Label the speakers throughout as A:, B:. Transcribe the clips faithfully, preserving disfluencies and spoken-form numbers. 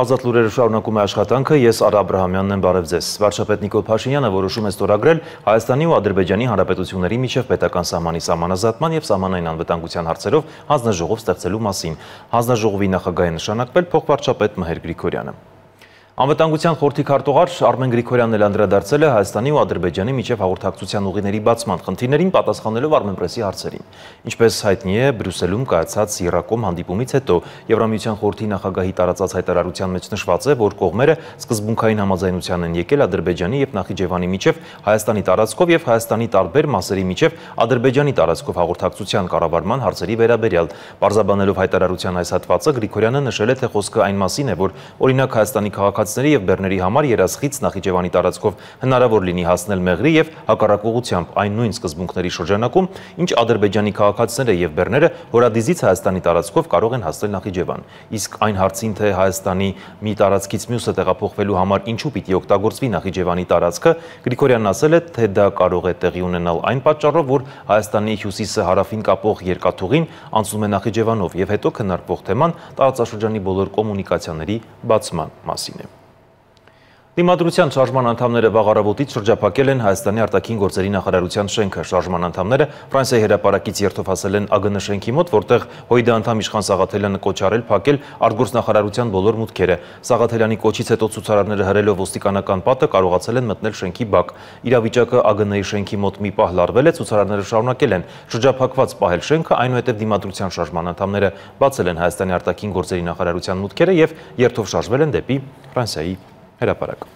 A: Ազատ լուրերը շարունակում է աշխատանքը, ես Արա Աբրահամյանն եմ, բարև ձեզ։ Վարչապետ Նիկոլ Փաշինյանը որոշում է ստորագրել Հայաստանի ու Ադրբեջանի Հանրապետությունների միջև պետական սահմանի սահմանազատման և սահմանային անվտանգության հարցերով հանձնաժողով ստեղծելու մասին։ Հանձնաժողովի նախագահ է նշանակվել փոխվարչապետ Մհեր Գրիգորյանը։ Անվտանգության խորհրդի քարտուղար Արմեն Գրիգորյանն էլ անդրադարձել է Հայաստանի ու Ադրբեջանի միջև հաղորդակցության ուղիների բացման խնդիրներին, պատասխանելով Armenpress-ի հարցերին։ Ինչպես հայտնի է, Բրյուսելում կայացած Եռակոմ հանդիպումից հետո Եվրամիության խորհրդի նախագահի տարածած հայտարարության մեջ նշված է, որ կողմերը սկզբունքային համաձայնության են եկել Ադրբեջանի և Նախիջևանի միջև Հայաստանի տարածքով և Հայաստանի տարբեր մասերի միջև Ադրբեջանի տարածքով հաղորդակցության կառավարման հարցերի վերաբերյալ։ Պարզաբանելով հայտարարության այս հատվածը, Գրիգորյանը նշել է, թե խոսքը այն մասին է, որ օրինակ Հայաստանի քաղաքացիների և բեռների համար երազխից Նախիջևանի տարածքով հնարավոր լինի հասնել Մեղրի և հակառակ ուղղությամբ այն նույն սկզբունքների շրջանակում, ինչ Ադրբեջանի քաղաքացիները և բեռները Հորադիզից Հայաստանի տարածքով կարող են հասնել Նախիջևան։ Իսկ այն հարցին, թե Հայաստանի մի տարածքից մյուսը տեղափոխվելու համար ինչու պիտի օգտագործվի Նախիջևանի տարածքը, Գրիգորյանն ասել է, թե դա կարող է տեղի ունենալ այն պատճառով, որ Հայաստանի հյուսիսը հարավին կապող երկաթուղին անցնում է Նախիջևանով, և հետո քննարկվող թեման տարածաշրջանի բոլոր կոմունիկացիաների բացման մասին է։ Դիմադրության շարժման անդամները վաղ առավոտից շրջափակել են Հայաստանի արտաքին գործերի նախարարության շենքը։ Շարժման անդամները Ֆրանսիայի հրապարակից երթով հասել են ԱԳՆ շենքի մոտ, որտեղ ՀՅԴ անդամ Իշխան Սաղաթելյանը կոչ արել փակել արտգործնախարարության բոլոր մուտքերը։ Սաղաթելյանի կոչից հետո ցուցարարները հրելով ոստիկանական պատը կարողացել են մտնել շենքի բակ։ Իրավիճակը ԱԳՆ-ի շենքի մոտ մի պահ լարվել է, ցուցարարները շարունակել են շրջափակված պահել շենքը, այնուհետև դիմադրության շարժման անդամները բացել են Հայաստանի արտաքին գործերի նախարարության մուտքերը և երթով շարժվել են դեպի Ֆրանսիայի հրապարակ։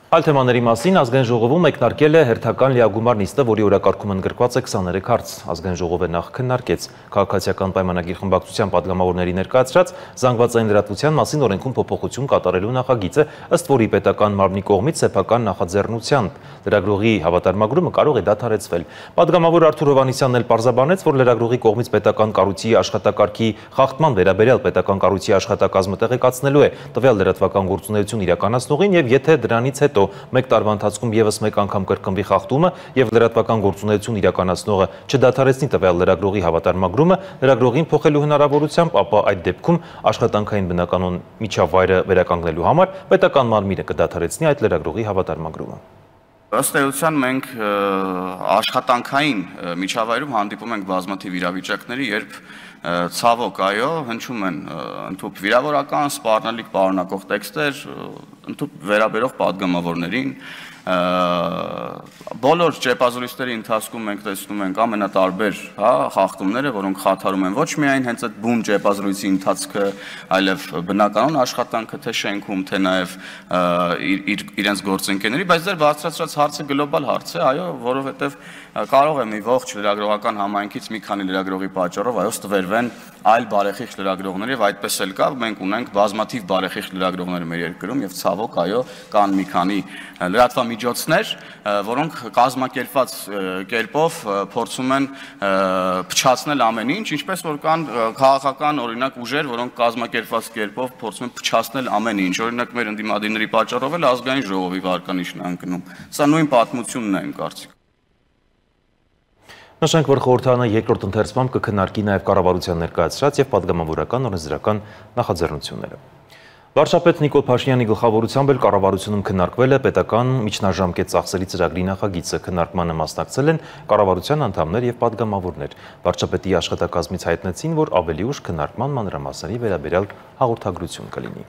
A: Այլ թեմաների մասին Ազգային ժողովում մեկնարկել է հերթական լիագումար նիստը, որի օրակարգում ընդգրկված է քսաներեք հարց։ Ազգային ժողովը նախ քննարկեց քաղաքացիական պայմանագիր խմբակցության падգամավորների ներկայացրած զանգվածային լրատվության մասին օրենքում փոփոխություն կատարելու նախագիծը, ըստ որի պետական մարմնի կողմից սեփական նախաձեռնությամբ լրագրողի հավատարմագրումը կարող է դադարեցվել։ Падգամավոր Արթուր Հովհաննիսյանն էլ պարզաբանեց, որ լրագրողի կողմից պետական կառույցի աշխատակարգի խախտման վերաբերյալ պետական կառույցի աշխատակազմը տեղեկացնելու է տվյալ լրատվական գործունեություն իրականացնողին, և եթե դրանից հետո մեկ տարվա ընթացքում ևս մեկ անգամ կրկնվի խախտումը և լրատվական գործունեություն իրականացնողը չդադարեցնի տվյալ լրագրողի հավատարմագրումը լրագրողին փոխելու հնարավորությամբ, ապա այդ դեպքում աշխատանքային բնականոն միջավայրը վերականգնելու համար պետական մարմինը կդադարեցնի այդ լրագրողի հավատարմագրումը։
B: Ըստ էության մենք աշխատանքային միջավայրում հանդիպում ենք բազմաթիվ իրավիճակների, երբ ցավոք, այո, հնչում են ընդհանուր վիրավորական, սպառնալիք պարունակող տեքստեր, ընդհանուր վերաբերող падգամավորներին, բոլոր ճեպազրույցների ընթացքում մենք տեսնում ենք ամենատարբեր խախտումները, որոնք խաթարում են ոչ միայն հենց այդ բուն ճեպազրույցի ընթացքը, այլև բնականոն աշխատանքը, թե շենքում, թե նաև իրենց գործընկերների, բայց դեռ բարձրացրած հարցը գլոբալ հարց է, այո, որովհետև կարող է մի ողջ լրագրողական համայնքից մի քանի լրագրողի պատճառով այո ստվերվեն այլ բարեխիղճ լրագրողներ, եւ այդպես էլ կա, մենք ունենք բազմաթիվ բարեխիղճ լրագրողներ մեր երկրում, եւ ցավոք, այո, կան մի քանի լրատվամիջոցներ, որոնք կազմակերպված կերպով փորձում են փչացնել ամեն ինչ, ինչպես որ կան քաղաքական օրինակ ուժեր, որոնք կազմակերպված կերպով փորձում են փչացնել ամեն ինչ, օրինակ մեր ընդդիմադիրների պատճառով էլ ազգային ժողովի վարկանիշն է ընկնում։ Սա նույն պատմությունն է, իմ կարծիքով։
A: Նշենք, որ խորհրդարանը երկրորդ ընթերցմամբ կքննարկի նաև կառավարության ներկայացրած և падգամավորական օրենսդրական նախաձեռնությունները։ Վարչապետ Նիկոլ Փաշինյանի գլխավորությամբ էլ կառավարությունում քննարկվել է պետական միջնաժամկետ ծախսերի ծրագրի նախագիծը։ Քննարկմանը մասնակցել են կառավարության անդամներ և падգամավորներ։ Վարչապետի աշխատակազմից հայտնեցին, որ ավելի ուշ քննարկման մանրամասների վերաբերյալ հաղորդագրություն կլինի։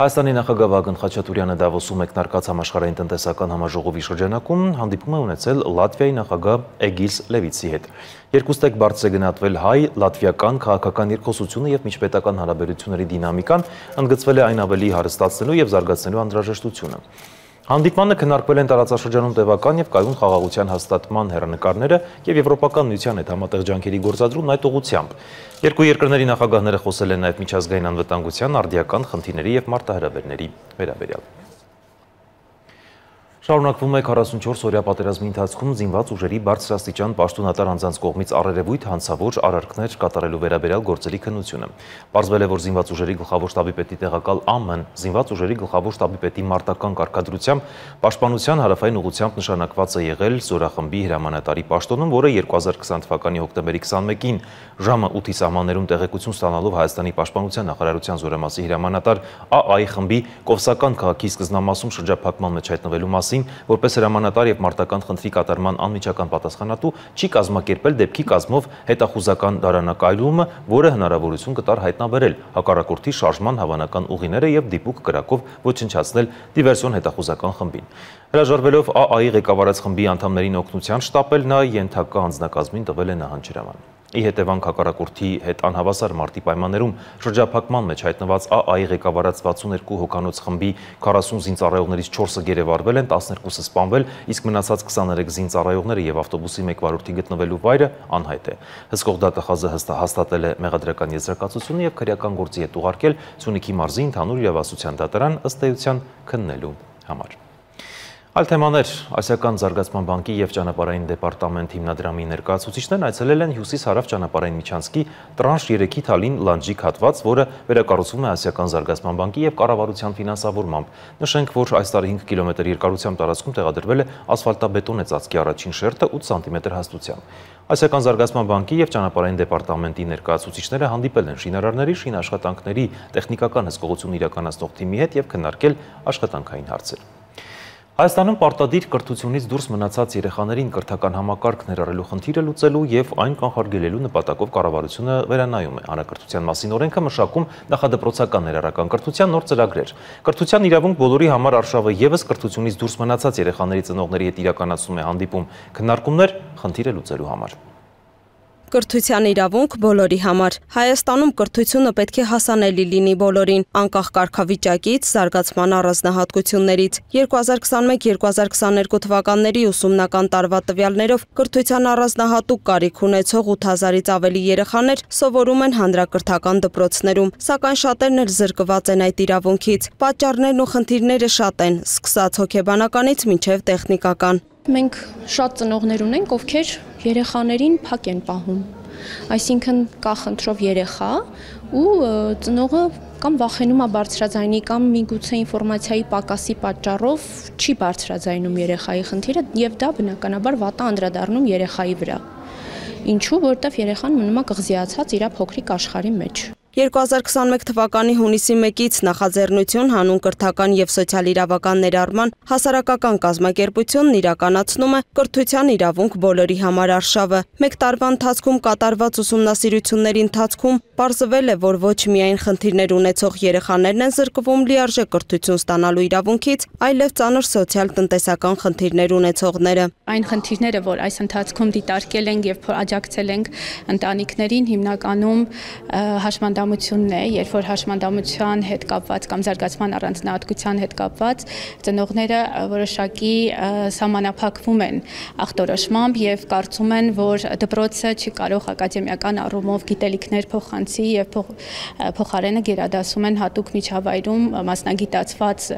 A: Հայաստանի նախագահ Վագն Խաչատուրյանը Դավոսում մեկնարկած համաշխարհային տնտեսական համաժողովի շրջանակում հանդիպում է ունեցել Լատվիայի նախագահ Էգիլս Լևիցի հետ։ Երկուստեք բարձր է գնահատվել հայ-լատվիական քաղաքական երկխոսությունը և միջպետական հարաբերությունների դինամիկան, ընդգծվել է այն ավելի հարստացնելու և զարգացնելու անհրաժեշտությունը։ Հանդիպմանը քննարկվել են տարածաշրջանում տևական և կայուն խաղաղության հաստատման հեռանկարները և Եվրոպական միության հետ համատեղ ջանքերի գործադրումն այդ ուղղությամբ։ Երկու երկրների նախագահները խոսել են նաև միջազգային անվտանգության, արդիական խնդիրների և մարտահրավերների վերաբերյալ։ Շարունակվում է քառասունչորս օրյա պատերազմի ընթացքում զինված ուժերի բարձրաստիճան պաշտոնատար անձանց կողմից առերևույթ հանցավոր արարքներ կատարելու վերաբերյալ գործերի քննությունը։ Պարզվել է, որ զինված ուժերի գլխավոր շտաբի պետի տեղակալ ԱՄ-ն զինված ուժերի գլխավոր շտաբի պետի մարտական կարգադրությամբ պաշտպանության հարավային ուղղությամբ նշանակված է եղել զորախմբի հրամանատարի պաշտոնում, որը երկու հազար քսան թվականի հոկտեմբերի քսանմեկին ժամը ութի սահմաններում տեղեկություն ստանալով Հայաստանի պաշտպանության նախարարության զորամասի հրամանատար ԱԱ-ի խմբի Կովսական քաղաքի սկզբնամասում շրջափակման մեջ հայտնվելու մասին, որպես հրամանատար եւ մարտական խնդրի կատարման անմիջական պատասխանատու չի կազմակերպել դեպքի կազմով հետախուզական դարանակայլումը, որը հնարավորություն կտար հայտնաբերել հակառակորդի շարժման հավանական ուղիները եւ դիպուկ կրակով ոչնչացնել դիվերսիոն հետախուզական խմբին։ Հրաժարվելով ԱԱ-ի ղեկավարած խմբի անդամներին օգնության շտապել, նա ենթակա անձնակազմին տվել է նահանջհրաման։ Ի հետևանք հակառակորդի հետ անհավասար մարտի պայմաններում շրջափակման մեջ հայտնված ԱԱ-ի ղեկավարած վաթսունութ երկու հոգանոց խմբի քառասուն զինծառայողներից չորսը գերեվարվել են, տասներկուսը սպանվել, իսկ մնացած քսաներեք զինծառայողները եւ ավտոբուսի մեկ վարորդի գտնվելու վայրը անհայտ է։ Հսկող դատախազը հաստատել է մեղադրական եզրակացությունը եւ քրեական գործի հետ ուղարկել Սյունիքի մարզի ընդհանուր իրավասության դատարան ըստ էության քննելու համար։ Այլ թեմաներ, Ասիական զարգացման բանկի եւ ճանապարհային դեպարտամենտ հիմնադրամի ներկայացուցիչներն այցելել են հյուսիս-հարավ ճանապարհային միջանցքի տրանշ երեքի Թալին լանջիկ հատված, որը վերակառուցվում է Ասիական զարգացման բանկի եւ կառավարության ֆինանսավորմամբ։ Նշենք, որ այս տարի հինգ կիլոմետր երկարությամբ տարածքում տեղադրվել է ասֆալտաբետոնե ծածկի առաջին շերտը ութ սանտիմետր հաստությամբ։ Ասիական զարգացման բանկի եւ ճանապարհային դեպարտամենտի ներկայացուցիչները հանդիպել են շինարարների, շինաշխատանքների տեխնիկական հսկողություն իրականացնող թիմի հետ եւ քննարկել աշխատանքային հարցեր։ Հայաստանում պարտադիր կրթությունից դուրս մնացած երեխաներին կրթական համակարգ ներառելու խնդիրը լուծելու եւ այն կանխարգելելու նպատակով կառավարությունը վերանայում է հանրակրթության մասին օրենքը մշակում նախադպրոցական ներառական կրթության նոր ծրագրեր։ Կրթության իրավունք բոլորի համար արշավը եւս կրթությունից դուրս մնացած երեխաների ծնողների հետ իրականացնում է հանդիպում քննարկումներ խնդիրը լուծելու համար։
C: Կրթության իրավունք բոլորի համար։ Հայաստանում կրթությունը պետք է հասանելի լինի բոլորին, անկախ կարգավիճակից, զարգացման առանձնահատկություններից։ երկու հազար քսանմեկ երկու հազար քսաներկու թվականների ուսումնական տարվա տվյալներով կրթության առանձնահատուկ կարիք ունեցող ութ հազարից ավելի երեխաներ սովորում են հանրակրթական դպրոցներում, սակայն շատերն էլ զրկված են այդ իրավունքից։ Պատճառներն ու խնդիրները շատ են, սկսած հոգեբանականից մինչև տեխնիկական։
D: Մենք շատ ծնողներ ունենք, ովքեր երեխաներին փակ են պահում, այսինքն կա խնդրով երեխա ու ծնողը կամ վախենում է բարձրաձայնի կամ միգուցե ինֆորմացիայի պակասի պատճառով չի բարձրաձայնում երեխայի խնդիրը եւ դա բնականաբար վատ է անդրադառնում երեխայի վրա։ Ինչու, որտեվ երեխան մնում է կղզիացած իր փոքրիկ աշխարհի մեջ։
C: երկու հազար քսանմեկ թվականի հունիսի մեկից նախաձեռնություն հանուն կրթական եւ սոցիալ-իրավական ներառման հասարակական կազմակերպությունն իրականացնում է կրթության իրավունք բոլորի համար արշավը։ Մեկ տարվա ընթացքում կատարված ուսումնասիրությունների ընթացքում պարզվել է, որ ոչ միայն խնդիրներ ունեցող երեխաներն են զրկվում լիարժեք կրթություն ստանալու իրավունքից, այլև ծանր սոցիալ-տնտեսական խնդիրներ ունեցողները։
D: Այն խնդիրները, որ այս ընթացքում դիտարկել ենք եւ աջակցել ենք ընտանիքներին, հիմնականում հաշմանդամությունն է, երբ որ հաշմանդամության հետ կապված կամ զարգացման առանձնահատկության հետ կապված ծնողները որոշակի սահմանափակվում են ախտորոշմամբ եւ կարծում են, որ դպրոցը չի կարող ակադեմիական առումով գիտելիքներ փոխանցի եւ փոխարենը գերադասում են հատուկ միջավայրում մասնագիտացված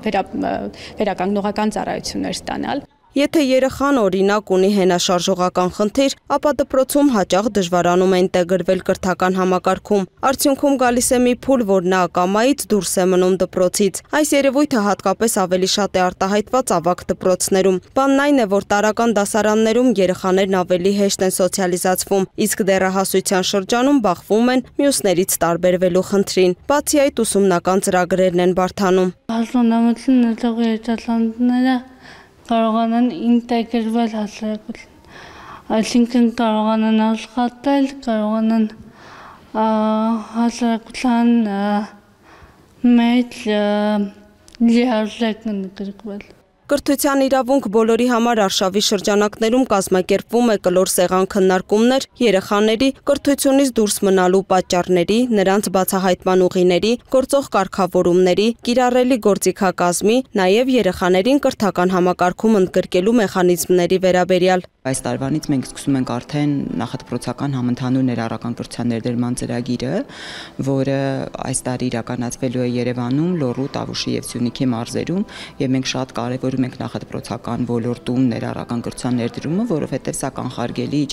D: վերականգնողական ծառայություններ ստանալ։
C: Եթե երեխան օրինակ ունի հենաշարժողական խնդիր, ապա դպրոցում հաճախ դժվարանում է ինտեգրվել կրթական համակարգում։ Արդյունքում գալիս է մի փուլ, որ նա ակամայից դուրս է մնում դպրոցից։ Այս երևույթը հատկապես ավելի շատ է արտահայտված ավագ դպրոցներում։ Բանն այն է, որ տարրական դասարաններում երեխաներն ավելի հեշտ են սոցիալիզացվում, իսկ դեռահասության շրջանում բախվում են մյուսներից տարբերվելու խնդրին։ Բացի այդ, ուսումնական ծրագրերն են բարդանում։
E: Կարողանան ինտեգրվել հասարակություն, այսինքն կարողանան աշխատել, կարողանան հասարակության մեջ լիարժեք ընդգրկվել։
C: Կրթության իրավունք բոլորի համար արշավի շրջանակներում կազմակերպվում է կլոր սեղան քննարկումներ երեխաների կրթությունից դուրս մնալու պատճառների, նրանց բացահայտման ուղիների, գործող կարգավորումների, կիրառելի գործիքակազմի, նաև երեխաներին կրթական համակարգում ընդգրկելու մեխանիզմների վերաբերյալ։
F: Այս տարվանից մենք սկսում ենք արդեն նախադպրոցական համընդհանուր ներառական կրթության ներդրման ծրագիրը, որը այս տարի իրականացվելու է Երևանում, Լոռու, Տավուշի եւ Սյունիքի մարզերում, եւ մենք շատ կարեւոր կանխարգելում ենք նախադպրոցական ոլորտում ներառական կրթության ներդրումը, որովհետև սա կանխարգելիչ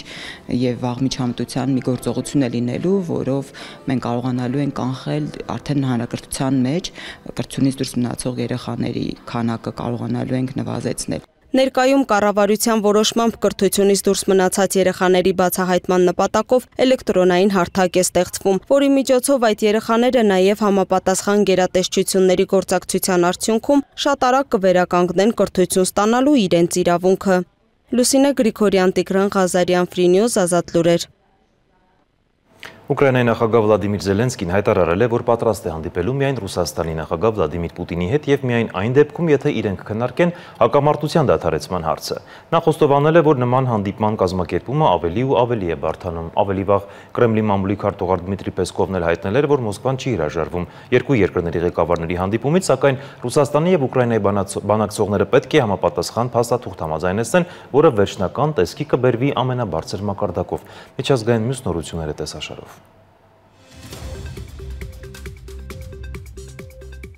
F: եւ վաղ միջամտության մի գործողություն է լինելու, որով մենք կարողանալու ենք կանխել արդեն հանրակրթության մեջ կրթությունից դուրս մնացող երեխաների քանակը կարողանալու ենք նվազեցնել։
C: Ներկայում կառավարության որոշմամբ կրթությունից դուրս մնացած երեխաների բացահայտման նպատակով էլեկտրոնային հարթակ է ստեղծվում, որի միջոցով այդ երեխաները նաև համապատասխան գերատեսչությունների գործակցության արդյունքում շատ արագ կվերականգնեն կրթություն ստանալու իրենց իրավունքը։ Լուսինե Գրիգորյան, Տիգրան Ղազարյան, Free News, Ազատ լուրեր։
A: Ուկրաինայի նախագահ Վլադիմիր Զելենսկին հայտարարել է, որ պատրաստ է հանդիպելու միայն Ռուսաստանի նախագահ Վլադիմիր Պուտինի հետ եւ միայն այն դեպքում, եթե իրենք քննարկեն հակամարտության դադարեցման հարցը։ Նա խոստովանել է, որ նման հանդիպման կազմակերպումը ավելի ու ավելի է բարդանում։ Ավելի վաղ Կրեմլի մամուլի քարտուղար Դմիտրի Պեսկովն էլ հայտնել էր, որ Մոսկվան չի հրաժարվում երկու երկրների ղեկավարների հանդիպումից, սակայն Ռուսաստանի եւ Ուկրաինայի բանակցողները պետք է համապատասխան փաստաթուղթ համաձայնեցնեն, որը վերջնական տեսքի կբերվի ամենաբարձր մակարդակով։ Միջազգային մյուս նորությունները տեսաշարով։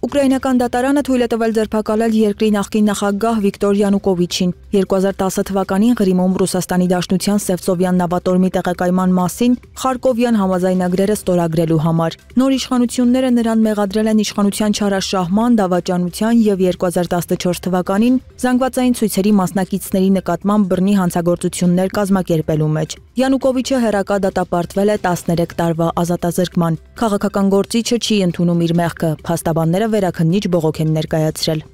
G: Ուկրաինական դատարանը թույլ է տվել ձերբակալել երկրի նախկին նախագահ Վիկտոր Յանուկովիչին։ երկու հազար տասը թվականին Ղրիմում Ռուսաստանի Դաշնության Սևծովյան նավատորմի տեղակայման մասին Խարկովյան համաձայնագրերը ստորագրելու համար։ Նոր իշխանությունները նրան մեղադրել են իշխանության չարաշահման, դավաճանության եւ երկու հազար տասնչորս թվականին զանգվածային ցույցերի մասնակիցների նկատմամբ բռնի հանցագործություններ կազմակերպելու մեջ։ Յանուկովիչը հերակա դատապարտվել է տասներեք տարվա ազատազրկման։ Քաղաքական գործիչը չի ընդունում իր մեղքը, փաստաբանները վերաքննիչ բողոք են ներկայացրել։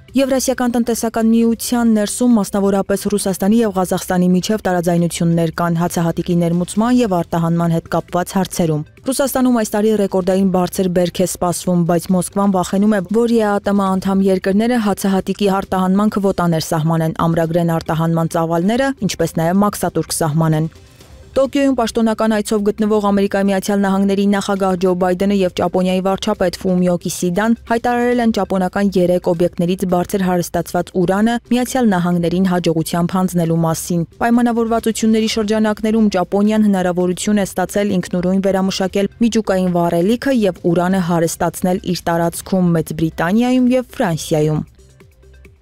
G: Եվրասիական տնտեսական միության ներսում մասնավորապես Ռուսաստանի եւ Ղազախստանի միջև տարաձայնություններ կան հացահատիկի ներմուծման եւ արտահանման հետ կապված հարցերում։ Ռուսաստանում այս տարի ռեկորդային բարձր բերք է սպասվում, բայց Մոսկվան վախենում է, որ ԵԱՏՄ անդամ երկրները հացահատիկի արտահանման քվոտաներ սահմանեն, ամրագրեն արտահանման ծավալները, ինչպես նաեւ մաքսատուրք սահմանեն։ Տոկիոյում պաշտոնական այցով գտնվող Ամերիկայի Միացյալ Նահանգների նախագահ Ջո Բայդենը եւ Ճապոնիայի վարչապետ Ֆումիո Կիսիդան հայտարարել են ճապոնական երեք օբյեկտներից բարձր հարստացված ուրանը Միացյալ Նահանգներին հաջողությամբ հանձնելու մասին։ Պայմանավորվածությունների շրջանակներում Ճապոնիան հնարավորություն է ստացել ինքնուրույն վերամշակել միջուկային վառելիքը եւ ուրանը հարստացնել իր տարածքում Մեծ Բրիտանիայում եւ Ֆրանսիայում։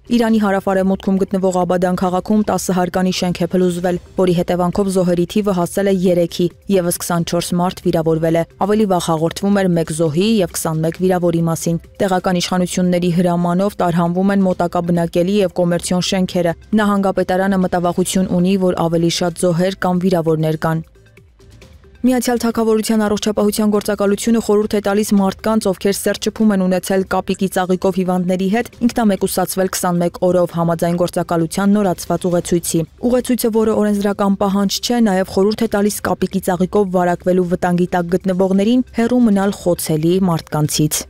G: Իրանի հարավ-արևմուտքում գտնվող Աբադան քաղաքում տասը հարկանի շենք է փլուզվել, որի հետևանքով զոհերի թիվը հասել է երեքի, եւս քսանչորս մարդ վիրավորվել է։ Ավելի վաղ հաղորդվում էր մեկ զոհի եւ քսանմեկ վիրավորի մասին։ Տեղական իշխանությունների հրամանով տարհանվում են մոտակա բնակելի եւ կոմերցիոն շենքերը։ Նահանգապետարանը մտավախություն ունի, որ ավելի շատ զոհեր կամ վիրավորներ կան։ Միացյալ Թագավորության առողջապահության գործակալությունը խորհուրդ է տալիս մարդկանց, ովքեր սերտ շփում են ունեցել կապիկի ծաղիկով հիվանդների հետ, ինքնամեկուսացվել քսանմեկ օրով համաձայն գործակալության նորացված ուղեցույցի։ Ուղեցույցը, որը օրենսդրական պահանջ չէ, նաև խորհուրդ է տալիս կապիկի ծաղիկով վարակվելու վտանգի տակ գտնվողներին հեռու մնալ խոցելի մարդկանցից։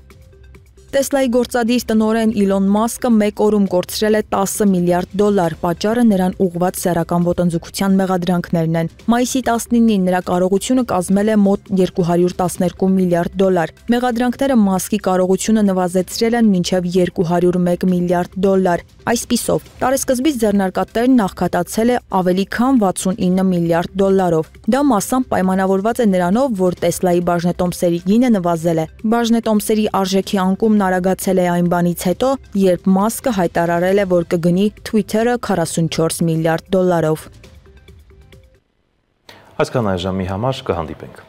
G: Տեսլայի գործադիր տնօրեն Իլոն Մասկը մեկ օրում կորցրել է տասը միլիարդ դոլար, պատճառը նրան ուղղված սեռական ոտնձգության մեղադրանքներն են։ Մայիսի տասնինին նրա կարողությունը կազմել է մոտ երկու հարյուր տասներկու միլիարդ դոլար։ Մեղադրանքները Մասկի կարողությունը նվազեցրել են մինչև երկու հարյուր մեկ միլիարդ դոլար։ Այսպիսով, տարեսկզբից ձեռնարկատերն նախքատացել է ավելի քան վաթսունինը միլիարդ դոլարով։ Դա մասամբ պայմանավորված է նրանով, որ Տեսլայի բաժնետոմսերի գինը նվազել է։ Բաժնետոմսերի արժեքի անկումն արագացել է այն բանից հետո, երբ Մասկը հայտարարել է, որ կգնի Twitter-ը քառասունչորս միլիարդ դոլարով։
A: Այսքան այժմի համար կհանդիպենք։